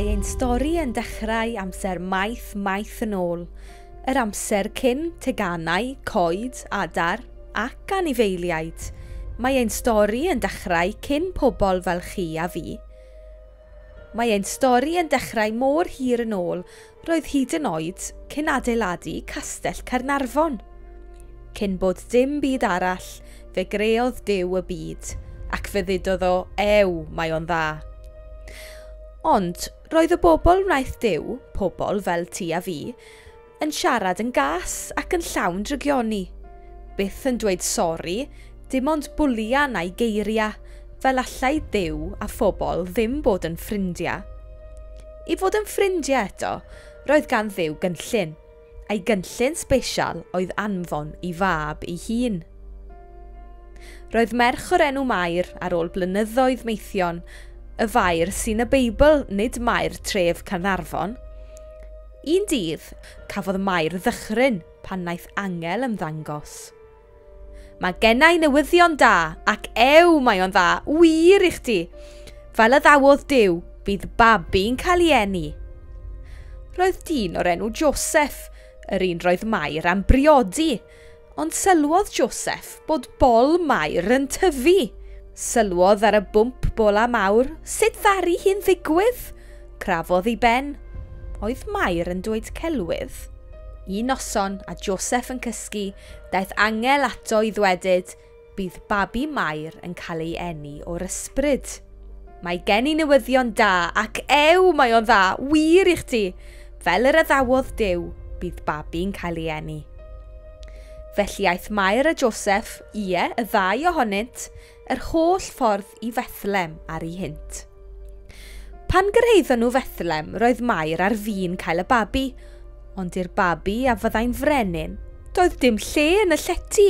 Mae ein stori yn dechrau amser maith maith yn ôl, yr amser cyn teganau, coed, adar ac anifeiliaid. Mae ein stori yn dechrau cyn pobl fel chi a fi. Mae ein stori yn dechrau mor hir yn ôl, roedd hyd yn oed cyn adeiladu Castell Caernarfon. Cyn bod dim byd arall, fe greodd Duw y byd, ac fe ddudodd o, ew, mae o'n dda. Ond roedd y bobl wnaeth Duw, pobl fel ti a fi, yn siarad yn gas ac yn llawn drygioni. Byth yn dweud sori, dim ond bwlian a'i geiriau, fel allai Duw a phobl ddim bod yn ffrindiau. I fod yn ffrindiau eto, roedd gan Dduw gynllun, a'i gynllun sbesial oedd anfon i fab ei hun. Roedd merch o'r enw Mair ar ôl blynyddoedd meithion, y fair sy'n y Beibl, nid Mair tref Caernarfon. Un dydd, cafodd Mair ddychryn pan wnaeth angel ymddangos. Mae gennau newyddion da, ac ew mae o'n dda, wir i chdi. Fel y ddawodd Duw, bydd babi'n cael ei eni. Roedd dyn o'r enw Joseph, yr un roedd Mair am briodi, ond sylwodd Joseph bod bol Mair yn tyfu. Sylwodd ar y bwmp bola mawr, sut ddaru hi'n ddigwydd? Crafodd ei ben. Oedd Mair yn dweud celwydd? Un noson, a Joseph yn cysgu, daeth angel ato i ddwedyd, bydd babi Mair yn cael ei eni o'r ysbryd. Mae gen i newyddion da, ac ew mae o'n dda, wir i chdi. Fel yr addawodd Duw, bydd babi'n cael ei eni. Felly aeth Mair a Joseph, ie, y ddau ohonynt, yr holl ffordd i Fethlem ar ei hynt. Pan gyrhaeddon nhw Fethlem, roedd Mair ar fin cael y babi, ond i'r babi a fyddai'n frenin, doedd dim lle yn y llety.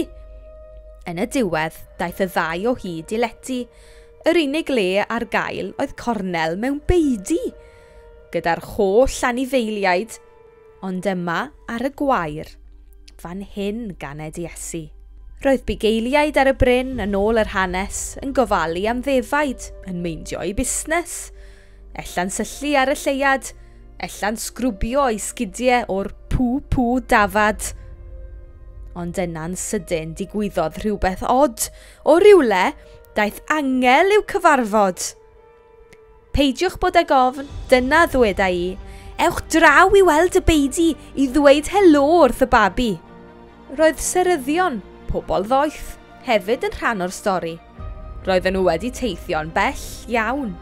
Yn y diwedd, daeth y ddau o hyd i lety. Yr unig le ar gael oedd cornel mewn beudy, gyda'r holl anifeiliaid, ond yma ar y gwair, fan hyn ganed Iesu. Roedd bugeiliaid ar y bryn yn ôl yr hanes yn gofalu am ddefaid, yn meindio eu busnes. Ella'n syllu ar y lleuad, ella'n sgrwbio eu sgidiau o'r pw-pw dafad. Ond yna'n sydyn digwyddodd rhywbeth od. O rywle, daeth angel i'w cyfarfod. Peidiwch bod ag ofn, dyna ddweda i. Ewch draw i weld y beudy i ddweud helo wrth y babi. Roedd seryddion, pobl ddoeth, hefyd yn rhan o'r stori. Roedden nhw wedi teithio'n bell iawn.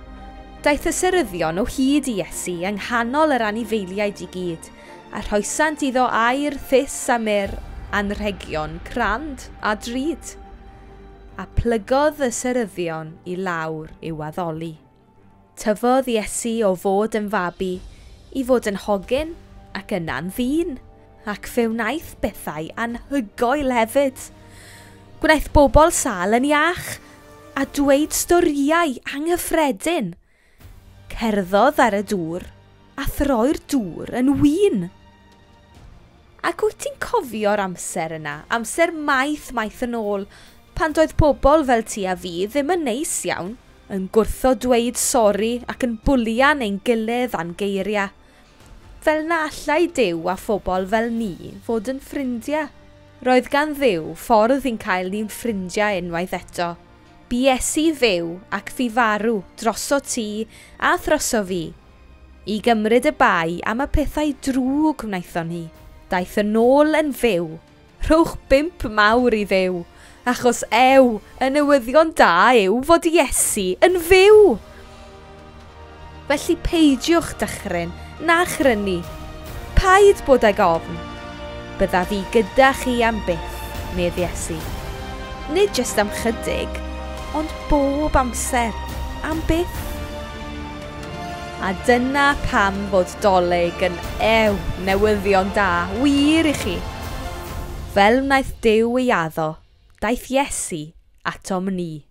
Daeth y seryddion o hyd i Iesu yng nghanol yr anifeiliaid i gyd, a rhoesant iddo aur, thus a myrrh, anrhegion crand a drud. A plygodd y seryddion i lawr i'w addoli. Tyfodd Iesu o fod yn fabi i fod yn hogyn ac yna'n ddyn, ac fe wnaeth bethau anhygoel hefyd. Gwnaeth bobl sâl yn iach a dweud storïau anghyffredin. Cerddodd ar y dŵr a throi'r dŵr yn win. Ac wyt ti'n cofio'r amser yna, amser maith maith yn ôl, pan doedd pobl fel ti a fi ddim yn neis iawn, yn gwrthod dweud sori ac yn bwlian ein gilydd a'n geiriau. Fel na allai Duw a phobl fel ni fod yn ffrindiau. Roedd gan Dduw ffordd i'n cael ni'n ffrindiau unwaith eto. Bu Iesu fyw ac fu farw droso ti a throso fi, i gymryd y bai am y pethau drwg wnaethon ni. Daeth yn ôl yn fyw. Rhowch 5 mawr i Dduw, achos ew, y newyddion da yw fod Iesu yn fyw. Felly peidiwch dychryn na chrynu. Paid bod ag ofn. Byddaf fi gyda chi am byth, medd Iesu. Nid jyst am chydig, ond bob amser, am byth. A dyna pam fod Dolig yn ew newyddion da, wir i chi. Fel wnaeth Duw ei addo, daeth Iesu atom ni.